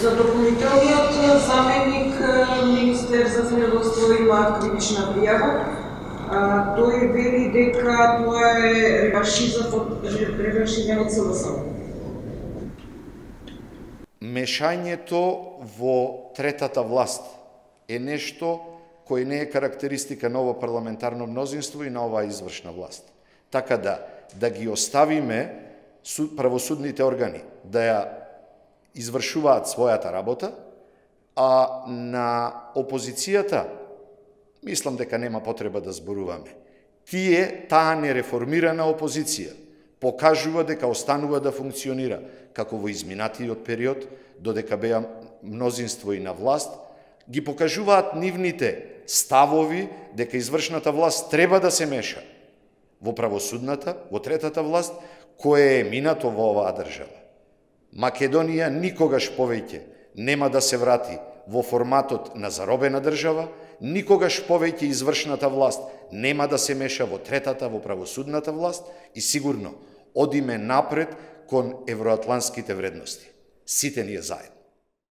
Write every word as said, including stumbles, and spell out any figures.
За дополнителниот заменик министер за земјоделство има кривична пријава. Тој вели дека тоа е реваншизам од СДСМ. Мешањето во третата власт е нешто кој не е карактеристика на ово парламентарно мнозинство и на оваа извршна власт. Така да, да ги оставиме правосудните органи да ја извршуваат својата работа, а на опозицијата, мислам дека нема потреба да зборуваме. Тие, таа нереформирана опозиција, покажува дека останува да функционира како во изминатиот период, додека беа мнозинство и на власт, ги покажуваат нивните ставови дека извршната власт треба да се меша во правосудната, во третата власт, која е минато во оваа држава. Македонија никогаш повеќе нема да се врати во форматот на заробена држава, никогаш повеќе извршната власт нема да се меша во третата, во правосудната власт и сигурно одиме напред кон евроатлантските вредности. Сите ние заедно.